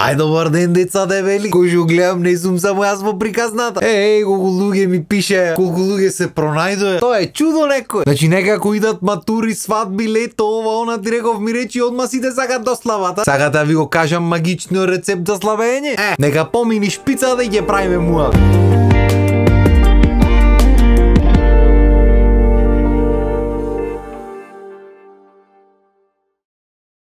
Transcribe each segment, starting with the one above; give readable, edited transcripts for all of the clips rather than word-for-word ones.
Ај добар ден деца дебели. Кој што гледам не сум само јас во приказната. Колку луѓе ми пише, колку луѓе се пронајдоа. Тоа е чудо некој. Значи некако идат матури, свадби, лето, ова, она, ти реков ми речи одма сите сакат до славата. Сакате да ви го кажам магичниот рецепт за славење? Нека помини шпицата и ќе правиме муа.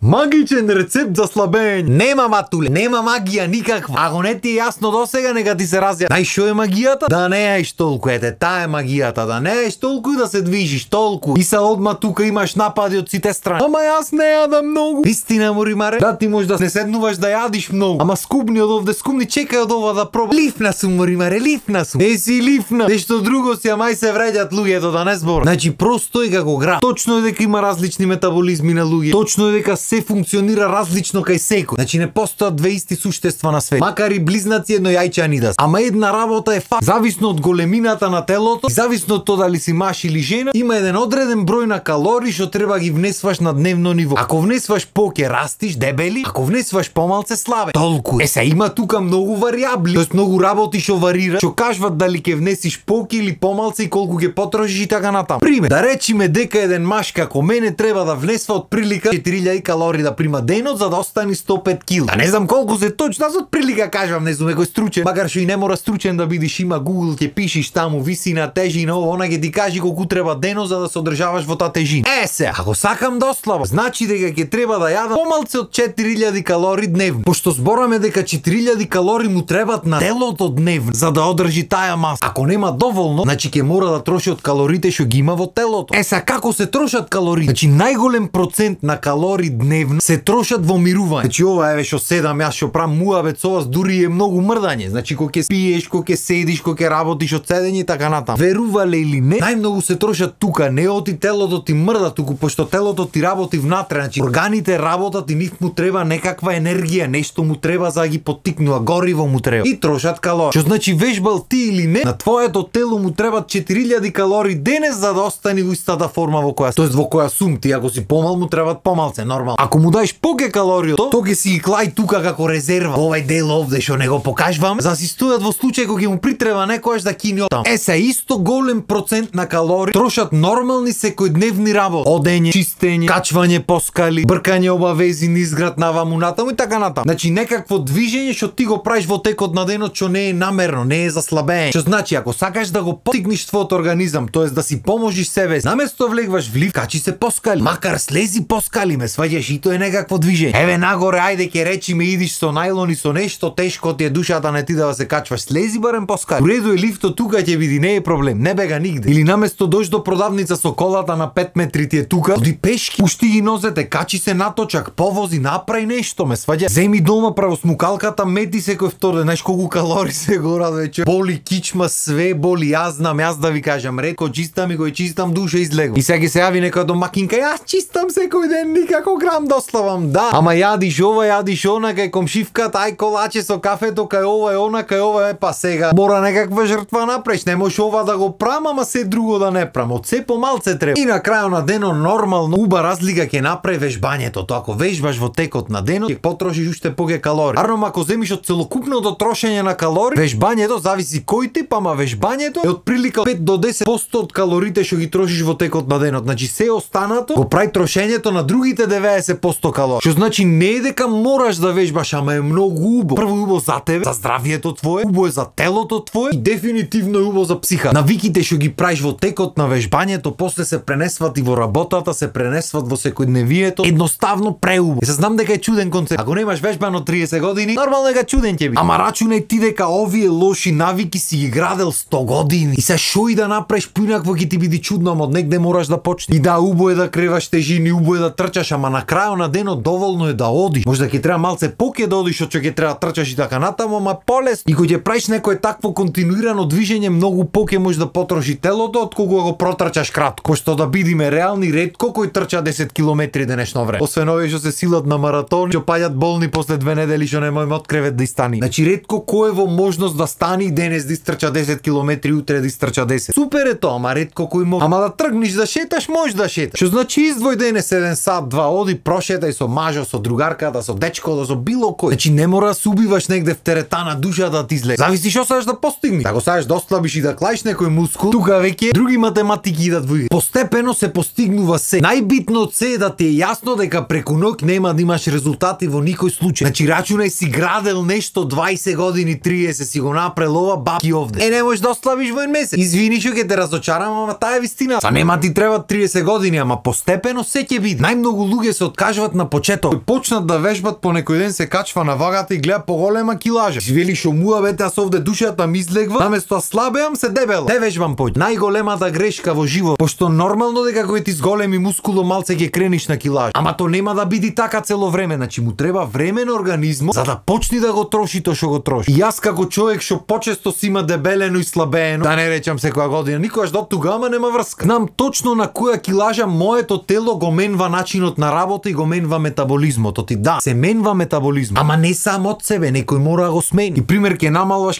Магичен рецепт за слабење. Нема матуле, нема магија никаква. Ако не ти е јасно досега, нека ти се разјасни. Знаеш што е магијата? Да не јаеш толку, таа е магијата. Да не јаеш толку и да се движиш толку. И се одма тука имаш напади од сите страни. Ама јас не јадам многу. Истина Моримаре, да ти можеш да не седнуваш да јадиш многу. Ама скупни од овде, скупни, чекај од ова да пробам. Лифна сум Моримаре, лифна сум. Си лифна. Нешто друго си, ама се вреѓат луѓето да не зборам. Значи просто е како град. Точно е дека има различни метаболизми на луѓе. Точно е дека се функционира различно кај секој. Значи не постојат две исти суштества на свет. Макар и близнаци еднојајчани да се. Ама една работа е факт. Зависно од големината на телото, зависно од тоа дали си маж или жена, има еден одреден број на калории што треба ги внесваш на дневно ниво. Ако внесваш по, ќе растиш дебели, ако внесваш помалце слабе. Толку. Се има тука многу варијабли, тоест многу работи што варира, што кажуват дали ќе внесиш поки или помалце и колку ќе потрошиш и така натаму. Пример, да речиме дека еден маж како мене треба да внесва од прилика 4000 калории да прима денот за да остани 105 кг. Да не знам колку се точно, аз од прилика кажам, не сум некој стручен, макар што и не мора стручен да бидеш, има Google, ќе пишеш таму висина, тежина, она ќе ти каже колку треба денот за да се одржаваш во таа тежина. Се, ако сакам да ослабам, значи дека ќе треба да јадам помалце од 4000 калории дневно. Пошто збораме дека 4000 калории му требат на телото дневно за да одржи таа маса. Ако нема доволно, значи ќе мора да троши од калориите што ги има во телото. Са како се трошат калории? Значи најголем процент на калории дневно се трошат во мирување. Значи ова еве што седам јас што правам муабет со вас, дури е многу мрдање. Значи кога ќе пиеш, кога ќе седиш, кога ќе работиш од седење и така натаму. Верувале или не, најмногу се трошат тука, не оти телото ти мрда туку, пошто телото ти работи внатре, значи органите работат и нив му треба некаква енергија, нешто му треба за да ги поттикнува, гориво му треба. И трошат калории. Што значи вежбал ти или не, на твоето тело му требат 4000 калории денес за да остане во истата форма во која, тоест во која сум ти, ако си помал му требат помалце, нормално. Ако му даеш поке калориото, то ќе си ги клај тука како резерва. Овај дел овде што не го покажувам, за си стојат во случај кога ќе му притреба некојаш да кини од таму. Исто голем процент на калории трошат нормални секојдневни работи. Одење, чистење, качвање по скали, бркање обавези низ град наваму натаму и така натаму. Значи некакво движење што ти го правиш во текот на денот што не е намерно, не е за слабење. Што значи ако сакаш да го поттикнеш твојот организам, тоест да си поможиш себе, наместо влегваш в лифт, качи се по скали. Макар слези по скали, ме сваѓаш и тоа е некакво движење. Еве нагоре, ајде ќе речиме идиш со најлон и со нешто тешко ти е душата, не ти да се качваш, слези барем по скали. Уреду е лифтот тука ќе биде, не е проблем, не бега нигде. Или наместо дојш до продавница со колата на 5 метри ти е тука, оди пешки, пушти ги нозете, качи се наточак, повози, направи нешто, ме сваѓа. Земи дома правосмукалката, мети секој втор ден, знаеш колку калории се горат вече. Боли кичма, све боли, јас знам, јас да ви кажам, ретко чистам и го чистам душа излегувам. И сега ќе се јави некоја домакинка, јас чистам секој ден, никако грам дославам, да. Ама јадиш ова, јадиш она, кај комшивката, ај колаче со кафето, кај ова е она, кај ова е, па сега мора некаква жртва направиш, не можеш ова да го прам, ама се друго да не прам, од се помалце треба. И на крајот на денот нормално уба разлика ќе направи вежбањето, тоа ако вежбаш во текот на денот, ќе потрошиш уште поќе калории. Арно ако земиш од целокупното трошење на калории, вежбањето зависи кој тип, ама вежбањето е од прилика 5 до 10% од калориите што ги трошиш во текот на денот. Значи се останато го прави трошењето на другите 90% калории. Што значи не е дека мораш да вежбаш, ама е многу убаво. Прво убаво за тебе, за здравието твое, убаво е за телото твое и дефинитивно е убаво за психа. Навиките што ги правиш во текот на вежбањето, после се пренесват и во работата, се пренесват во секојдневието. Едноставно преубаво. Се знам дека е чуден концепт. Ако немаш вежбано 30 години, нормално дека чуден ќе биде. Ама рачунај ти дека овие лоши навики си ги градел 100 години. И се шо и да направиш поинакво ќе ти биде чудно, ама од негде мораш да почнеш. И да, убаво е да креваш тежини, убаво е да трчаш, ама на крајот на денот доволно е да одиш. Може да ќе треба малце поќе да одиш, од што ќе треба трчаш и така натаму, ама полесно. И кога ќе правиш некое такво континуирано движење, многу поќе може да потроши телото отколку го протрчаш кратко. Што да бидиме реални, ретко кој трча 10 километри денешно време. Освен овие што се силат на маратон, што паѓат болни после 2 недели што не можеме од кревет да истани. Значи ретко кој е во можност да стани денес да истрча 10 километри, утре да истрча 10. Супер е тоа, ама ретко кој може. Ама да тргнеш да шеташ, можеш да шеташ. Што значи издвој денес 1 сат, 2, оди прошетај со мажо, со другарката, со дечкото, со било кој. Значи не мора да се убиваш негде в теретана душа да ти излезе. Зависи што сакаш да постигнеш. Ако сакаш да ослабиш и да клаиш некој мускул, тука веќе други математики идат во игра. Постепено се постигнува се. Најбитно се е да ти е јасно дека преку ноќ нема да имаш резултати во никој случај. Значи рачунај си градел нешто 20 години, 30 си го направил ова бабки овде. Не можеш да ослабиш во еден месец. Извини што ќе те разочарам, ама таа е вистина. Са нема ти треба 30 години, ама постепено се ќе биде. Најмногу луѓе се откажуваат на почеток. Кои почнат да вежбат по некој ден се качва на вагата и гледа поголема килажа. Вели шо муа бете, аз овде душата ми излегва, наместо слабеам се дебел. Не вежбам поќе. Најголемата грешка во живот, пошто нормално дека кој ти зголеми мускуло малце ќе крениш на килаж. Ама то нема да биде така цело време, значи му треба време на организмот за да почне да го троши тоа што го троши. И јас како човек што почесто си има дебелено и слабеено, да не речам секоја година, никогаш до тугама нема врска. Знам точно на која килажа моето тело го менва начинот на работа и го менва метаболизмот. Оти да, се менва метаболизмот. Ама не само од себе, некој мора да го смени. И пример ќе намалваш,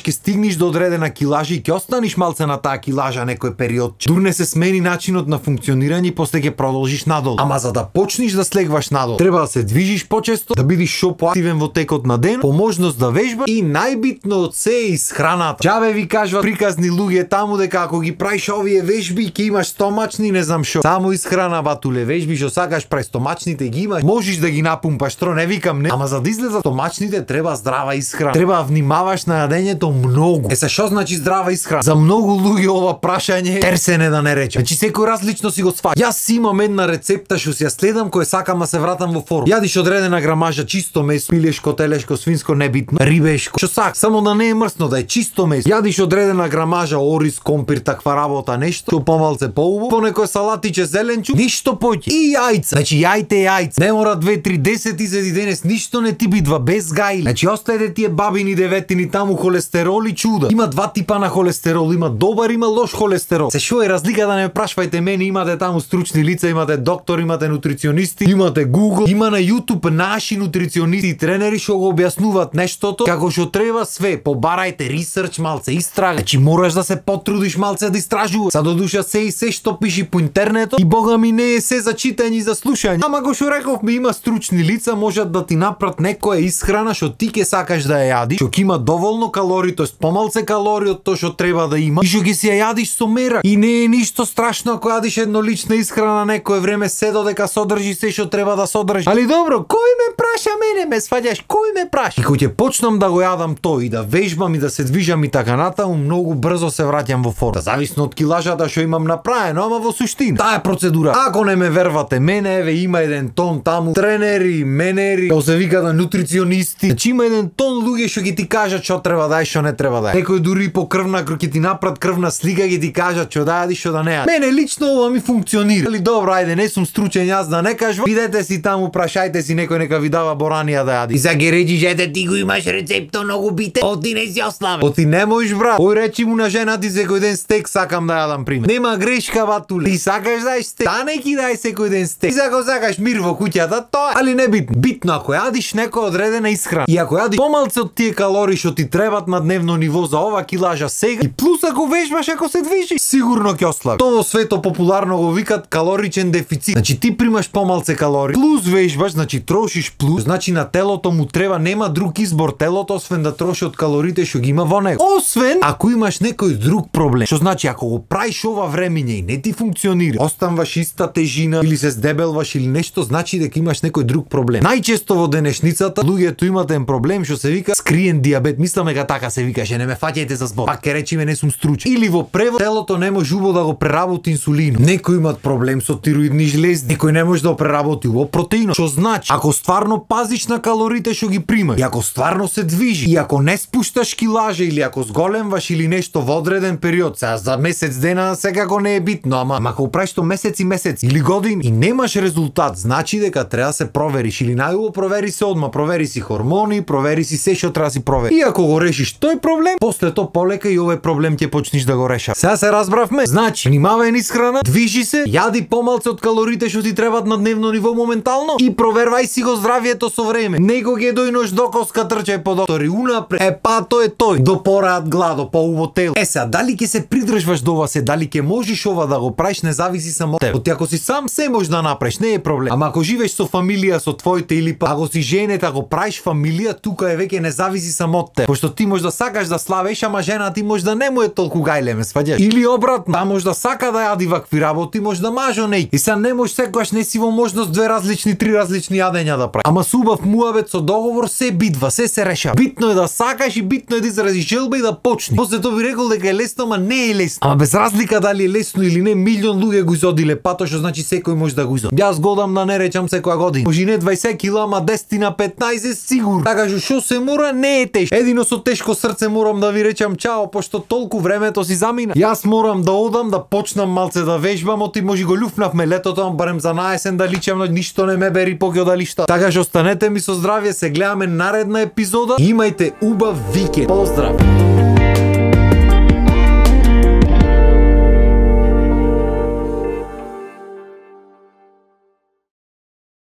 ќе стигнеш до одредена килажа и ќе останеш малце на таа килажа некој период. Дурне се смени начинот на функционирање и после ќе продолжиш надолу. Ама за да почнеш да слегваш надолу, треба да се движиш почесто, да бидиш шо поактивен во текот на ден, по можност да вежбаш и најбитно од се е исхраната. Џабе ви кажуват приказни луѓе таму дека ако ги правиш овие вежби ќе имаш стомачни, не знам шо. Само исхрана батуле, вежби што сакаш прај стомачните ги имаш, можеш да ги напумпаш, тро не викам не. Ама за да излезат стомачните треба здрава исхрана. Треба да внимаваш на јадењето многу. Се што значи здрава исхрана? За многу луѓе ова прашање терсене да не речем. Значи секој различно си го сваќа. Јас си имам една рецепта што си ја следам кој сакам да се вратам во форма. Јадиш одредена грамажа чисто месо, пилешко, телешко, свинско, небитно, рибешко. Што сак, само да не е мрсно, да е чисто месо. Јадиш одредена грамажа ориз, компир, таква работа, нешто, што помалце поубаво, по некој салатиче зеленчук, ништо поќе. И јајца. Значи јајте јајца. Не мора 2, 3, 10 изеди денес, ништо не ти бидва без гајли. Значи остајте тие бабини деветини таму холестероли чуда. Има два типа на холестерол, има добар, има лош холестерол. Се шо е разлика да не прашвајте мене, имате таму стручни лица, имате доктор, имате нутриционисти, имате Google, има на YouTube наши нутриционисти и тренери што го објаснуваат нештото како што треба све. Побарајте ресерч малце, истрага. Значи мораш да се потрудиш малце да истражуваш. Са до душа се и се што пиши по интернетот и бога ми не е се за читање и за слушање. Ама го што рековме, има стручни лица, можат да ти напрат некоја исхрана што ти ќе сакаш да ја јадиш, што ќе има доволно калории, тоест помалце калории од тоа што треба да има и што ќе си ја јадиш со мера. И не е ништо страшно ако јадиш еднолична исхрана некое време се додека содржи се што треба да содржи. Али добро, кој ме праша мене, ме сваѓаш, кој ме праша? И кога ќе почнам да го јадам тој и да вежбам и да се движам и така натаму, многу брзо се враќам во форма. Зависно од килажата што имам направено, ама во суштина. Таа е процедура. Ако не ме вервате мене, еве има еден тон таму тренери, менери, како се викаат нутриционисти. Значи има еден тон луѓе што ќе ти кажат што треба да е, што не треба да е. Некој дури по крвна ќе ти направат крвна слика, ќе ти кажат што да јадиш, што да не јадиш. Мене лично ова ми функционира. Али добро, ајде, не сум стручен јас да не кажувам. Бидете си таму, прашајте си некој нека ви дава боранија да јади. И за ги речиш, ете ти го имаш рецепто многу бите. Оти не си ослабен. Оти не можеш брат. Ој речи му на жена ти секој ден стек сакам да јадам пример. Нема грешка батуле. Ти сакаш да јадиш стек. Та не ки дај секој ден стек. И ако сакаш мир во куќата, тоа. Али не битно. Битно ако јадиш некоја одредена исхрана. И ако јадиш помалце од тие калории што ти требат на дневно ниво за ова килажа сега, и плюс ако вежбаш, ако се движиш, сигурно ќе ослабиш. Тоа во свето популарно го викат калоричен дефицит. Значи ти примаш помалце калории, плюс вежбаш, значи трошиш плюс, значи на телото му треба, нема друг избор телото освен да троши од калориите што ги има во него. Освен ако имаш некој друг проблем. Што значи ако го правиш ова времење и не ти функционира, останваш иста тежина или се здебелваш или нешто, значи дека имаш некој друг проблем. Најчесто во денешницата луѓето имат еден проблем што се вика скриен диабет. Мислам дека така се викаше, не ме фаќајте за збор. Пак ке речеме не сум стручен. Или во превод телото не може убаво да го преработи инсулинот. Некои имат проблем со тироидни жлезди, некој не може да го преработи убаво протеинот. Што значи ако стварно пазиш на калориите што ги примаш, и ако стварно се движиш, и ако не спушташ килажа или ако зголемваш или нешто во одреден период, сега за месец дена секако не е битно, ама ако правиш тоа месеци или години и немаш резултат, значи дека треба да се провериш или најубаво провери се одма, провери си хормони, провери си се што треба да си провери. И ако го решиш тој проблем, после тоа полека и овој проблем ќе почнеш да го решаваш. Сега се разбравме. Значи, внимавај исхрана, движи се, јади помалце од калориите што ти требаат на дневно ниво моментално и провервај си го здравието со време. Некој ќе дојнош до коска трчај по доктори унапред. Па тој е тој. До пораат гладо, поубаво тело. Сега дали ќе се придржваш до ова се, дали ќе можеш ова да го правиш, не зависи само од тебе. Оти ако си сам се можеш да направиш, не е проблем. Ама ако живееш со фамилија со твоите или па ако си женет, ако правиш фамилија, тука е веќе не зависи само од те. Пошто ти можеш да сакаш да славеш, ама жена ти може да не му е толку гајле, ме сваѓаш. Или обратно, та може да сака да јади вакви работи, може да мажо неј. И сега не можеш секогаш, не си во можност две различни, три различни јадења да прави. Ама со убав муабет со договор се бидва, се решава. Битно е да сакаш и битно е да изразиш желба и да почни. После тоа би рекол дека е лесно, ама не е лесно. Ама без разлика дали е лесно или не, милион луѓе го изодиле пато, што значи секој може да го изоди. Јас годам да не речам секоја година. Може не 20 кила, ама 10 на 15 сигурно. Така што се мора не е тешко. Едино со тешко срце морам да ви речам чао, пошто толку времето си замина. Јас морам да одам да почнам малце да вежбам, оти може го љуфнавме летото, барем за наесен да личам, но ништо не ме бери поќе дали шта. Така што останете ми со здравје, се гледаме наредна епизода. Имајте убав викенд. Поздрав.